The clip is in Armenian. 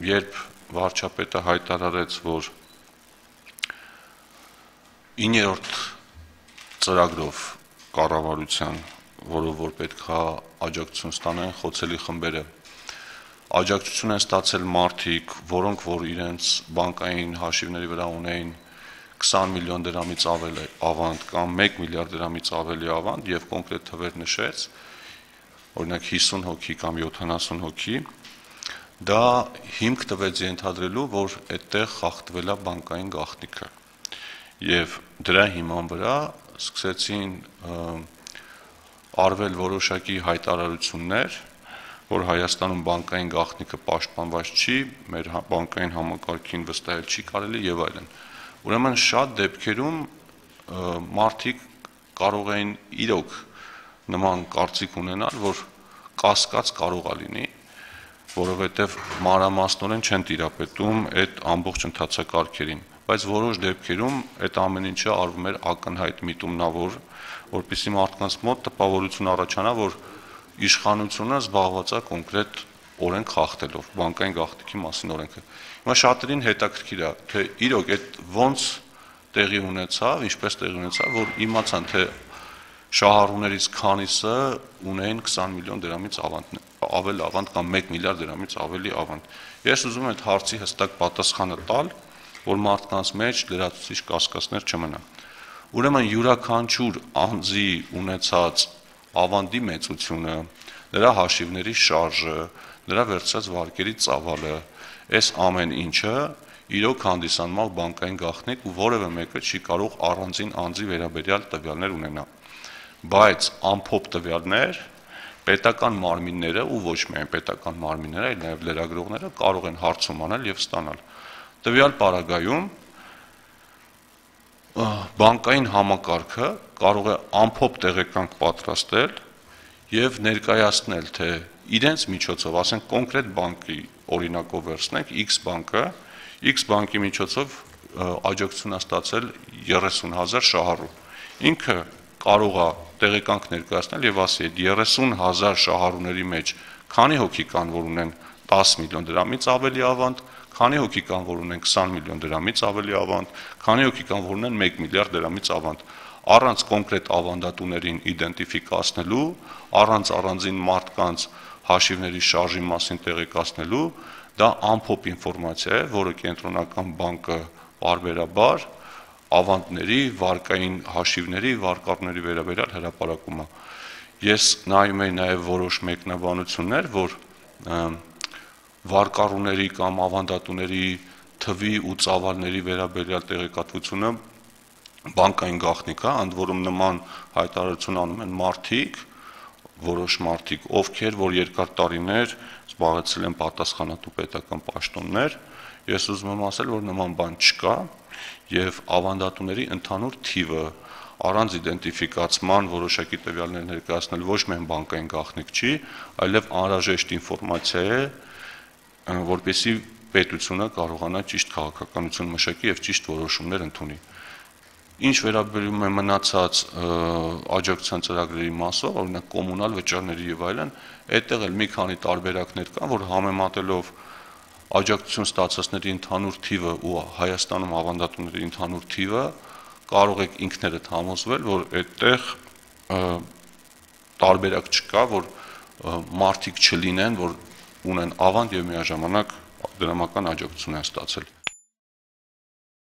Երբ վարչապետը հայտարարեց, որ 9-րդ ծրագրով կառավարության, որով որ պետք է աջակցություն ստանան խոցելի խմբերը, աջակցություն են ստացել մարդիկ, որոնք որ իրենց բանկային հաշիվների վրա ունեին 20 միլիոն դրամից ավել ավանդ կամ 1 միլիարդ դրամից ավելի ավանդ եւ կոնկրետ թվեր նշեց, օրինակ 50 հոգի կամ 70 հոգի, դա հիմք տվեց ենթադրելու, որ այդտեղ խախտվել է բանկային գաղտնիքը եւ դրա հիման վրա սկսեցին արվել որոշակի հայտարարություններ, որ Հայաստանում բանկային գաղտնիքը պաշտպանված չի, մեր բանկային համակարգին վստահել չի կարելի եւ այլն։ Ուրեմն շատ դեպքերում մարդիկ կարող էին իրոք նման կարծիք ունենալ, որ կասկած կարող է լինի, որովհետեւ մանրամասնորեն չեն տիրապետում այդ ամբողջ ընթացակարգերին, բայց որոշ դեպքերում այդ ամեն ինչը արվում էր ակնհայտ միտումնավոր, որպեսզի մարդկանց մոտ տպավորություն առաջանա, որ իշխանությունը զբաղված է կոնկրետ օրենք խախտելով, բանկային գաղտնիքի մասին օրենքը։ Հիմա շատերին հետաքրքիր է, թե իրոք այդ ոնց տեղի ունեցավ, ինչպես տեղի ունեցավ, որ իմացան, թե շահառուներից քանիսը ունեին 20 միլիոն դրամից ավել ավանդ կամ 1 միլիարդ դրամից ավելի ավանդ։ Ես ուզում եմ այդ հարցի հստակ պատասխանը տալ, որ մարդկանց մեջ լրացուցիչ կասկածներ չմնան։ Ուրեմն յուրաքանչյուր անձի ունեցած ավանդի մեծությունը, նրա հաշիվների շարժը, նրա վերցրած վարկերի ծավալը, այս ամեն ինչը իրոք հանդիսանում է բանկային գաղտնիք ու որևէ մեկը չի կարող առանձին անձի վերաբերյալ տվյալներ ունենալ։ Բայց ամփոփ տվյալներ պետական մարմինները ու ոչ միայն պետական մարմինները, այլ նաև լրագրողները կարող են հարցում անել եւ ստանալ։ Տվյալ պարագայում բանկային համակարգը կարող է ամփոփ տեղեկանք պատրաստել եւ ներկայացնել, թե իրենց միջոցով, ասենք կոնկրետ բանկի օրինակով վերցնենք X բանկի միջոցով աջակցություն է ստացել 30,000 շահառու։ Ինքը կարող է տեղեկանք ներկայացնել եւ ասի, այդ 30,000 շահառուների մեջ քանի հոգի կան, որ ունեն 10 միլիոն դրամից ավելի ավանդ, քանի հոգի կան, որ ունեն 20 միլիոն դրամից ավելի ավանդ, քանի հոգի կան, որ ունեն 1 միլիարդ դրամից ավանդ, առանց կոնկրետ ավանդատուներին իդենտիֆիկացնելու, առանց առանձին մարդկանց հաշիվների շարժի մասին տեղեկացնելու, դա ամփոփ ինֆորմացիա է, որը կենտրոնական բանկը պարբերաբար ավանդների, վարկային հաշիվների, վարկառների վերաբերյալ հրապարակում է։ Ես նայում եի նաև որոշ մեկնաբանություններ, որ վարկառուների կամ ավանդատուների թվի ու ծավալների վերաբերյալ տեղեկատվությունը բանկային գաղտնիք է, ընդ որում նման հայտարարություն անում են որոշ մարդիկ, ովքեր որ երկար տարիներ զբաղեցրել են պատասխանատու պետական պաշտոններ, ես ուզում եմ ասել, որ նման բան չկա եւ ավանդատուների ընդհանուր թիվը առանց իդենտիֆիկացման որոշակի տվյալներ ներկայացնել ոչ միայն բանկային գաղտնիք չի, այլև անհրաժեշտ ինֆորմացիա է, որպեսզի պետությունը կարողանա ճիշտ քաղաքականություն մշակի եւ ճիշտ որոշումներ ընդունի։ Ինչ վերաբերում է մնացած աջակցության ծրագրերի մասով, օրինակ կոմունալ վճարների եւ այլն, այդտեղ էլ մի քանի տարբերակներ կան, որ համեմատելով աջակցություն ստացածների ընդհանուր թիվը ու Հայաստանում ավանդատուների ընդհանուր թիվը կարող եք ինքներդ համոզվել, որ այդտեղ տարբերակ չկա, որ մարդիկ չլինեն, որ ունեն ավանդ եւ միաժամանակ դրամական աջակցություն են ստացել։